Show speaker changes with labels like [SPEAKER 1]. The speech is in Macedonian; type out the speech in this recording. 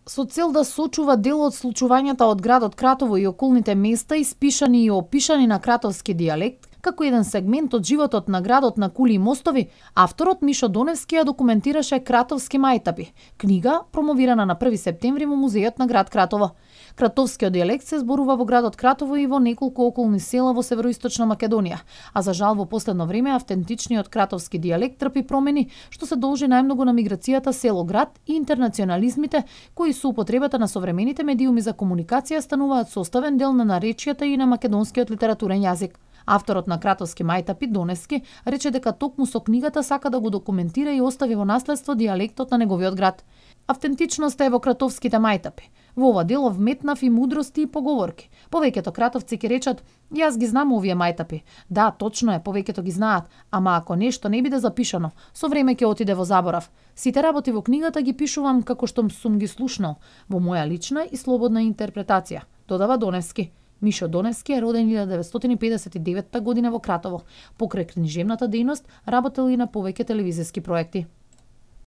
[SPEAKER 1] Со цел да сочува дел од случувањата од градот Кратово и околните места, испишани и опишани на кратовски дијалект, како еден сегмент од животот на градот на кули и мостови, авторот Мишо Доневски ја документираше Кратовски мајтапи, книга промовирана на 1 септември во музејот на град Кратово. Кратовскиот дијалект се зборува во градот Кратово и во неколку околни села во североисточна Македонија, а за жал во последно време автентичниот кратовски дијалект трпи промени, што се должи најмногу на миграцијата село-град и интернационализмите, кои со употребата на современите медиуми за комуникација стануваат составен дел на наречијата и на македонскиот литературен јазик. Авторот на Кратовски мајтапи Доневски рече дека токму со книгата сака да го документира и остави во наследство дијалектот на неговиот град. Автентичноста е во кратовските мајтапи. Во ова дело вметнав и мудрости и поговорки. Повеќето кратовци ќе речат: "Јас ги знам овие мајтапи." Да, точно е, повеќето ги знаат, ама ако нешто не биде запишано, со време ќе отиде во заборав. Сите работи во книгата ги пишувам како што сум ги слушнал, во моја лична и слободна интерпретација, додава Доневски. Мишо Доневски е роден 1959 година во Кратово. Покрај книжевната дејност, работел и на повеќе телевизиски проекти.